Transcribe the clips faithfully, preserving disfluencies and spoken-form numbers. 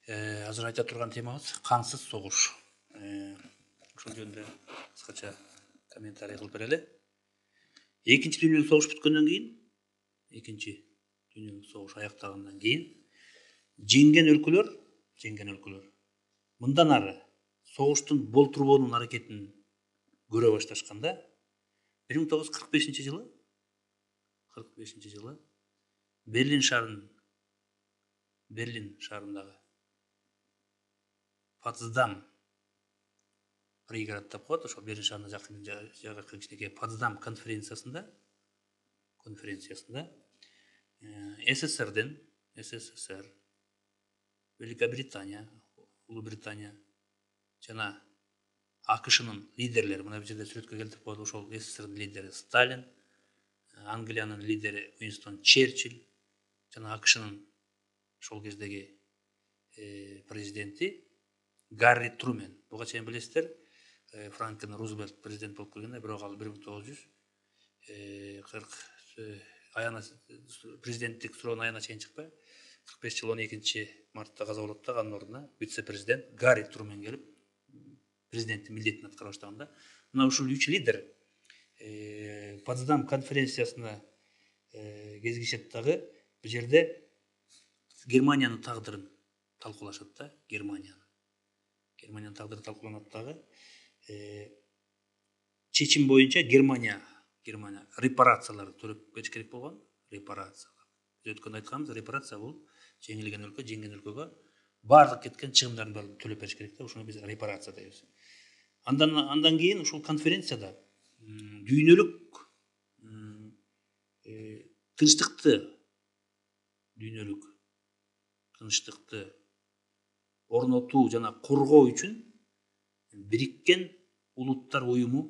Азыр айта турган темабыз кансыз согуш. Ошол жөнүндө кыскача комментарий кылып берели. Экинчи дүйнөлүк согуш бүткөндөн кийин, экинчи дүйнөлүк согуш аяктагандан кийин жеңген өлкөлөр, жеңген өлкөлөр мындан ары согуштун болтурбоонун аракетин көрө башташканда бир миң тогуз жүз кырк бешинчи жылы кырк бешинчи жылы Берлин шаарынын Берлин шаарындагы Потсдам пригород деп коет, ошол Берлин шаарына жакын жагы кичинекей Потсдам конференциясында конференциясында СССРдин СССР, Великобритания, Улуу Британия жана АКШнын лидерлери, мына бул жерде сүрөткө келтирип коет, ошол СССРдин лидери Сталин, Англиянын лидери Уинстон Черчилль жана АКШнын ошол кездеги президенти Гарри Трумен. Буга чейин билесиздер, Франклин Рузвельт президент болуп келгенде, бирок ал бир миң тогуз жүз кырк аяна президенттик суроонун аягына чейин чыкпай, кырк беш жыл он экинчи мартта каза болот да, анын ордуна вице-президент Гарри Трумен келип президенттин милдетин аткара баштаганда, мына ушул үч лидер Потсдам конференциясына кезигишет дагы, бул жерде Германиянын тагдырын талкуулашат да, Германиянын. Германиянын тагдыры талкууланат дагы. Чечим боюнча Германия Германия репарациялар төлөп бериш керек болгон, репарациялар. Биз өткөндө айтканбыз, репарация бул жеңилген өлкө, жеңген өлкөгө баардык кеткен чыгымдардын баарын төлөп бериш керек да, ошону биз репарация дейбиз. Андан андан кийин ушул конференцияда дүйнөлүк тынчтыкты дүйнөлүк тынчтыкты орнотуу жана коргоо үчүн Бириккен Улуттар уюму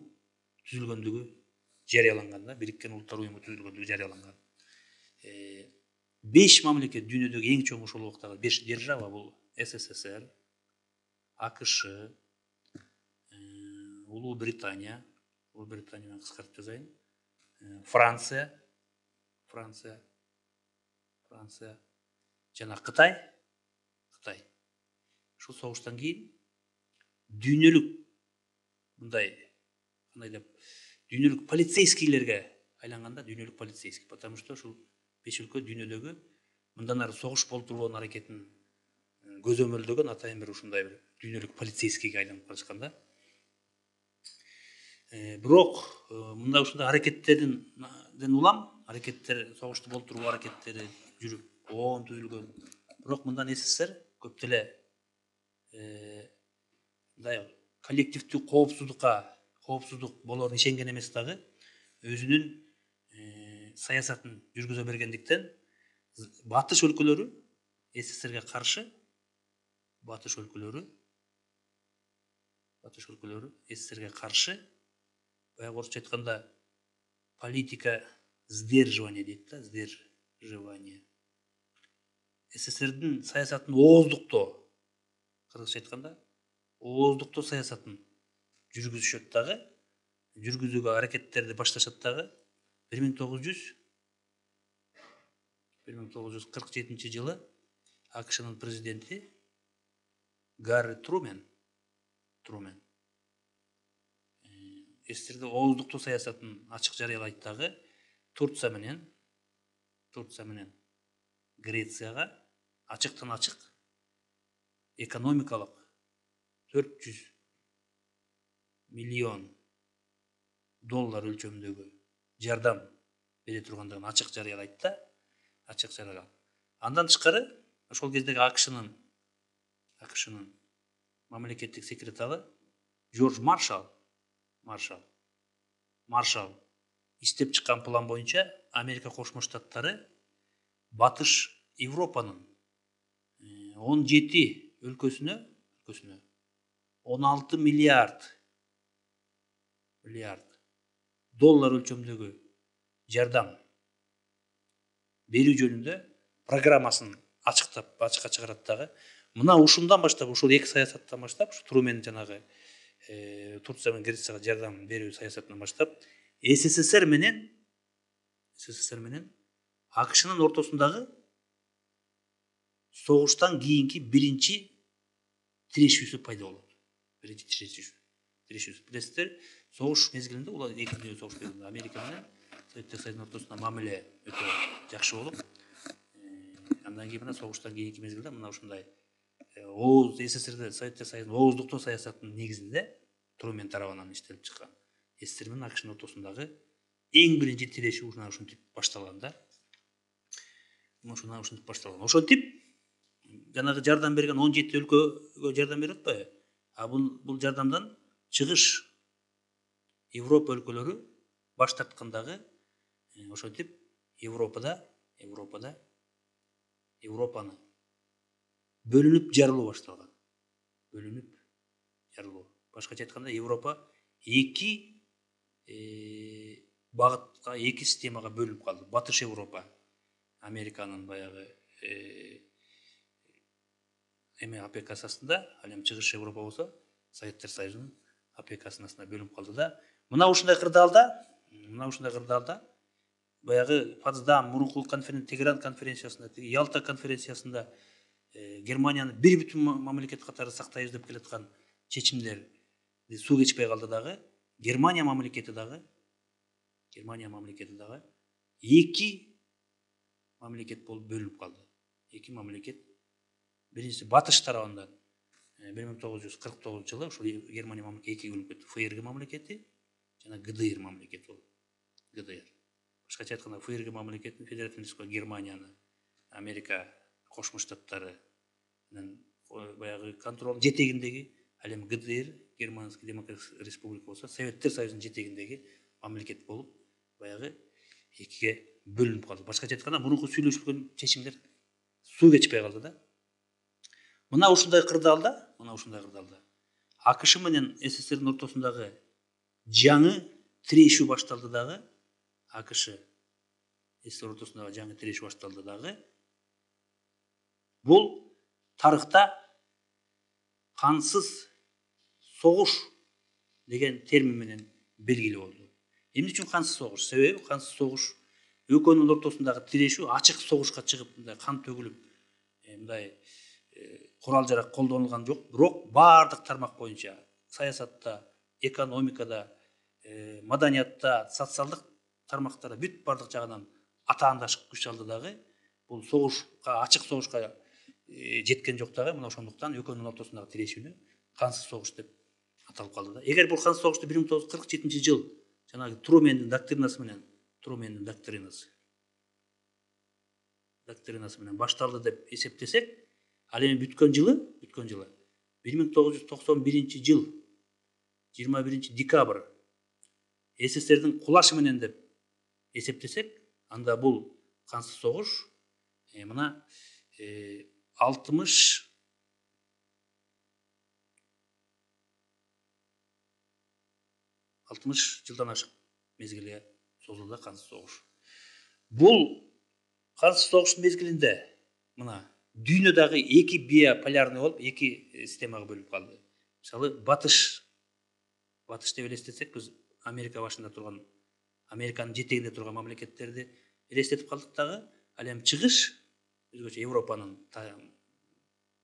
түзүлгөндүгү жарыяланган да, Бириккен Улуттар уюму түзүлгөндүгү жарыяланган. беш мамлекет, дүйнөдөгү эң чоң ошол убактагы беш держава бул СССР, АКШ, Улуу Британия, Улуу Британияны кыскартып жазайын, Франция, Франция, Франция жана Кытай, Кытай. Ушул согуштан кийин дүйнөлүк мындай кандай деп дүйнөлүк полицейскийлерге айланганда, дүйнөлүк полицейский, потому что ушул беш өлкө дүйнөдөгү мындан ары согуш болтурбоонун аракетин көзөмөлдөгөн атайын бир ушундай бир дүйнөлүк полицейскийге айланып калышкан да. Бирок мындай ушундай аракеттерден улам, аракеттер, согушту болтуруу аракеттери жүрүп, оон түзүлгөн. Бирок мындан СССР көп деле мындай коллективдүү коопсуздукка, коопсуздук болоорун ишенген эмес дагы, өзүнүн саясатын жүргүзө бергендиктен батыш өлкөлөрү СССРге каршы, батыш өлкөлөрү батыш өлкөлөрү СССРге каршы, баягы орусча айтканда политика сдерживания дейт да, сдерживание. СССРдин саясатын ооздуктоо, кыргызча айтканда, ооздуктоо саясатын жүргүзүшөт дагы, жүргүзүүгө аракеттерди башташат дагы. бир миң тогуз жүз кырк жетинчи жылы АКШнын президенти Гарри Трумен Трумен СССРде ооздуктоо саясатын ачык жарыялайт дагы. Турция менен Турция менен Грецияга ачыктан ачык экономикалык төрт жүз миллион доллар өлчөмүндөгү жардам бере тургандыгын ачык жарыялайт да, ачык жарыялайт. Андан тышкары ошол кездеги АКШнын АКШнын мамлекеттик секретары Джордж Маршалл Маршалл Маршалл иштеп чыккан план боюнча Америка Кошмо Штаттары Батыш Европанын он жети өлкөсүнө өлкөсүнө он алты миллиард миллиард доллар өлчөмүндөгү жардам берүү жөнүндө программасын ачыктап, ачыкка чыгарат дагы. Мына ушундан баштап, ушул эки саясаттан баштап, ушу Трумен жанагы Турция менен Грецияга жардам берүү саясатынан баштап, СССР менен СССР менен АКШнын ортосундагы согуштан кийинки биринчи тирешүүсү пайда болот. Биринчи тирешүү. Тирешүүсү. Билесиздер, согуш мезгилинде, улар экинчи дүйнөлүк согуш мезгилинде Америка менен Советтик Союздун ортосунда мамиле өтө жакшы болуп, андан кийин мына согуштан кийинки мезгилде мына ушундай Оз СССРде Советтик Союздун ооздуктоо саясатынын негизинде Трумен тарабынан иштелип чыккан СССР менен АКШнын ортосундагы эң биринчи тирешүү ушундай ушинтип башталган да. Ушундай ушинтип башталган. Ошентип жанагы жардам берген он жети өлкөгө жардам берип атпайбы? А бул бул жардамдан чыгыш Европа өлкөлөрү баш тарткандагы ошентип Европада Европада Европаны бөлүнүп жарылуу башталган. Бөлүнүп жарылуу. Башкача айтканда Европа эки багытка, эки системага бөлүнүп калды. Батыш Европа, Американын баягы эме АПК астында, ал эми чыгыш Европа болсо Советтер Союзунун АПК-сынын астында бөлүнүп калды да. Мына ушундай кырдаалда, мына ушундай кырдаалда баягы Потсдам, мурунку конференция, Тегеран конференциясында, Ялта конференциясында Германиянын бир бүтүн мамлекет катары сактайбыз деп келаткан чечимдер суу кечпей калды дагы. Германия мамлекети дагы Германия мамлекети дагы эки мамлекет болуп бөлүнүп калды. Эки мамлекет. Биринчиси батыш тарабынан бир миң тогуз жүз кырк тогузунчу жылы ушул Германия мамлекети экиге бөлүнүп кетти. ФРГ мамлекети жана ГДР мамлекети болду. ГДР. Башкача айтканда ФРГ мамлекетин Федеративдик Республика Германияны Америка Кошмо Штаттары менен баягы контролдун жетегиндеги, ал эми ГДР, Германский Демократическая Республика болсо Советтер Союзунун жетегиндеги мамлекет болуп баягы экиге бөлүнүп калды. Башкача айтканда мурунку сүйлөшүлгөн чечимдер суу кечпей калды да. Мына ушундай кырдаалда, мына ушундай кырдаалда АКШ менен СССРдин ортосундагы жаңы тирешүү башталды дагы. АКШ СССР ортосундагы жаңы тирешүү башталды дагы. Бул тарыхта кансыз согуш деген термин менен белгилүү болду. Эмне үчүн кансыз согуш? Себеби кансыз согуш экөөнүн ортосундагы тирешүү ачык согушка чыгып, мындай кан төгүлүп, мындай курал жарак колдонулган жок, бирок баардык тармак боюнча саясатта, экономикада, маданиятта, социалдык тармактарда бүт баардык жагынан атаандаш күч алды дагы. Бул согушка, ачык согушка жеткен жок дагы. Мына ошондуктан экөөнүн ортосундагы тирешүүнү кансыз согуш деп аталып калды да. Эгер бул кансыз согушту бир миң тогуз жүз кырк жетинчи жыл жанагы Трумендин доктринасы менен, Трумендин доктринасы доктринасы менен башталды деп эсептесек, ал эми бүткөн жылы, бүткөн жылы бир миң тогуз жүз токсон биринчи жыл жыйырма биринчи декабрь СССРдин кулашы менен деп эсептесек, анда бул кансыз согуш мына алтымыш алтымыш жылдан ашык мезгилге созулду кансыз согуш. Бул кансыз согуш мезгилинде мына дүйнөдөгү эки биополярный болуп, эки системага бөлүнүп калды. Мисалы, батыш батыш деп элестетсек, биз Америка башында турган, Американын жетегинде турган мамлекеттерди элестетип калдык дагы. Ал эми чыгыш өзгөчө Европанын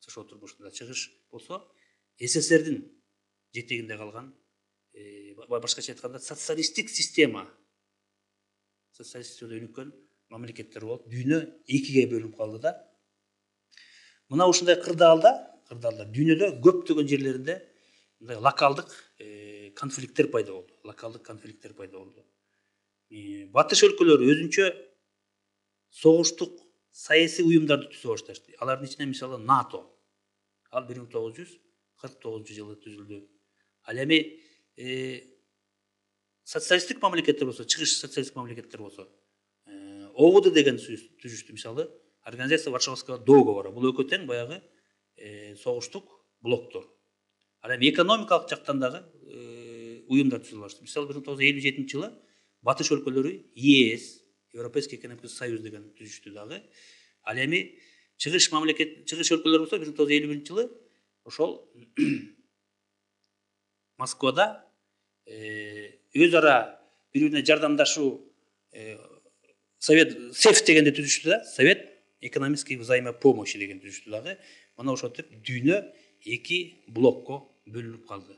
тышоо турмушунда чыгыш болсо, СССРдин жетегинде калган, башкача айтканда социалисттик система, социалисттик өнүккөн мамлекеттер болуп, дүйнө экиге бөлүнүп калды да. Мына ушундай кырдаалда, кырдаалда дүйнөдө көптөгөн жерлеринде мындай локалдык конфликттер пайда болду. Локалдык конфликттер пайда болду. Батыш өлкөлөрү өзүнчө согуштук саясий уюмдарды түзө башташты. Алардын ичинде мисалы НАТО. Ал бир миң тогуз жүз кырк тогузунчу жылы түзүлдү. Ал эми социалисттик мамлекеттер болсо, чыгыш социалисттик мамлекеттер болсо, ООД деген түзүштү. Мисалы, Организация Варшавского договора. Бул экөө тең баягы согуштук блоктор. Ал эми экономикалык жактан дагы уюмдар түзүлө баштады. Мисалы, бир миң тогуз жүз элүү жетинчи жылы батыш өлкөлөрү ЕС, Европейский экономический союз деген түзүштү дагы. Ал эми чыгыш мамлекет, чыгыш өлкөлөр болсо, бир миң тогуз жүз элүү биринчи жылы ошол Москвада өз ара бири-бирине жардамдашуу Совет СЭФ дегенди түзүштү да. Совет экономической взаимопомощи деген түзүштү дагы. Мына ошентип дүйнө эки блокко бөлүнүп калды.